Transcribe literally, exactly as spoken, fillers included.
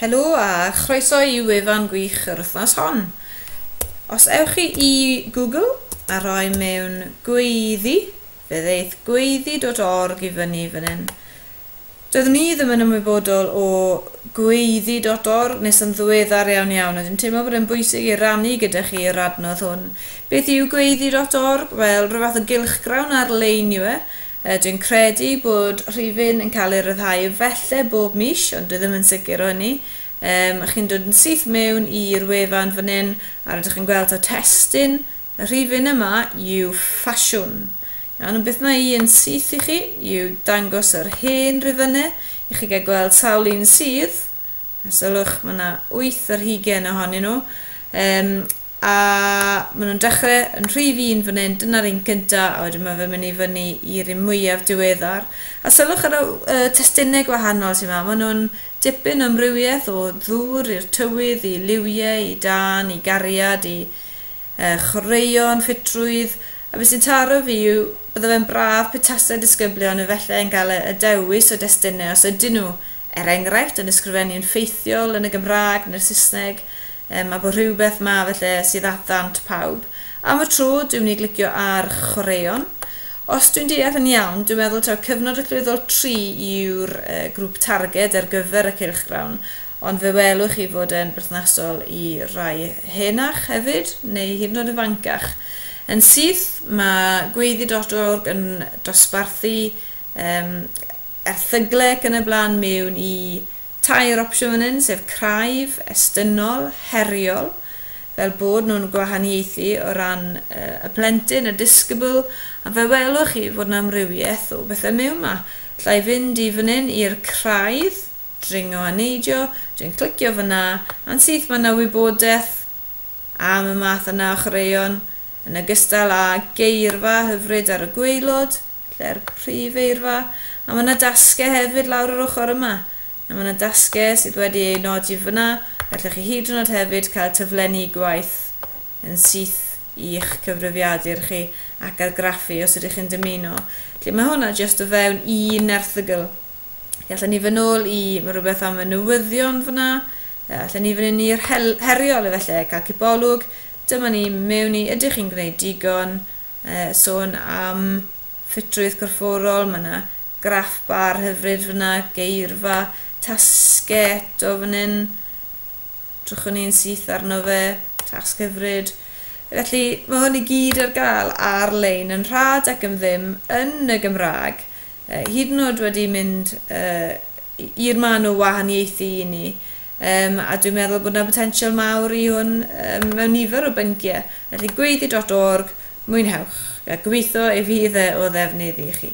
Helo a chroeso i wefan gwych yr wythnos hon. Os ewch chi i Google a rhoi mewn gweiddi, fe ddeith gweiddi dot org i fyny fan hyn. Doeddwn i ddim yn ymwybodol o gweiddi dot org nes yn ddiweddar iawn iawn, a dwi'n teimlo bod e'n bwysig i rannu gyda chi yr adnodd hwn. Beth yw gweiddi dot org? Wel, rhyw fath o gylchgrawn ar-lein yw e. Dwi'n credu bod rhifyn yn cael ei ryddhau efallai bob mis, ond dwi ddim yn sicr o hynny. Um, chi'n dod yn syth mewn i'r wefan fan hyn, a rydych chi'n gweld o testun. Y rhifyn yma yw ffasiwn. Iawn, ond beth mae i yn syth i chi yw dangos yr hen rifynnau, i chi gael gweld sawl un sydd. A sylwch, mae yna wyth ar hugain ohonyn nhw. Um, a maen nhw'n dechrau yn rhif un fan hyn, dyna'r un cyntaf, a wedyn mae fe'n mynd i fyny i'r un mwyaf diweddar. A sylwch ar y uh, testunau gwahanol sy'n yma, maen nhw'n dipyn o amrywiaeth o ddŵr i'r tywydd, i liwiau, i dân, i gariad, i uh, chwaraeon, ffitrwydd. A beth sy'n taro fi yw, bydde fe'n braf petasau disgyblion efallai yn cael y, y dewis o destunau os ydyn nhw, er enghraifft, yn ysgrifennu'n ffeithiol yn y Gymraeg neu'r Saesneg, um, a bod rhywbeth ma felly sydd at ddant pawb. Am y tro, dwi'n mynd i glicio ar chwaraeon. Os dwi'n deall yn iawn, dwi'n meddwl taw cyfnod allweddol tri yw'r uh, grŵp targed ar gyfer y cylchgrawn, ond fe welwch chi fod e'n berthnasol i rai henach hefyd, neu hyd yn oed ifancach. Yn syth, mae gweiddi dot org yn dosbarthu um, erthygle ac yn y blaen mewn i tair opsiwn fan hyn, sef craidd, estynnol, heriol, fel bod nhw'n gwahaniaethu o ran uh, y plentyn, y disgybl, a fe welwch chi fod yna amrywiaeth o bethau mewn yma. Alla i fynd i fan hyn i'r craidd, dringo a neidio, dwi'n clicio fyna, a'n syth mae yna wybodaeth am y math yna o chwaraeon, yn ogystal â geirfa hyfryd ar y gwaelod, lle'r prif eirfa, a mae yna dasgau hefyd lawr yr ochr yma. A mae yna dasgau sydd wedi ei nodi fyna, gallwch chi hyd yn oed hefyd cael taflenni gwaith yn syth i'ch cyfrifiadur chi ac argraffu os ydych chi'n dymuno. Felly mae hwnna jyst o fewn un erthygl. Gallwn ni fynd nôl i, mae rhywbeth am y newyddion fyna, allan ni fynd i'r heriol efallai, cael cipolwg. Dyma ni mewn i, ydych chi'n gwneud digon, eh, sôn am ffitrwydd corfforol, mae yna graff bar hyfryd fyna, geirfa, tasgau eto fan hyn, drychwn ni'n syth arno fe, tasg hyfryd. Felly mae hwn i gyd ar gael ar-lein yn rhad ac am ddim yn y Gymraeg, eh, hyd yn oed wedi mynd eh, i'r man o wahaniaethu i ni. Um, a dwi'n meddwl bod yna potensial mawr i hwn um, mewn nifer o bynciau. Felly gweiddi dot org, mwynhewch. A gobeithio ei fydd e o ddefnydd i chi.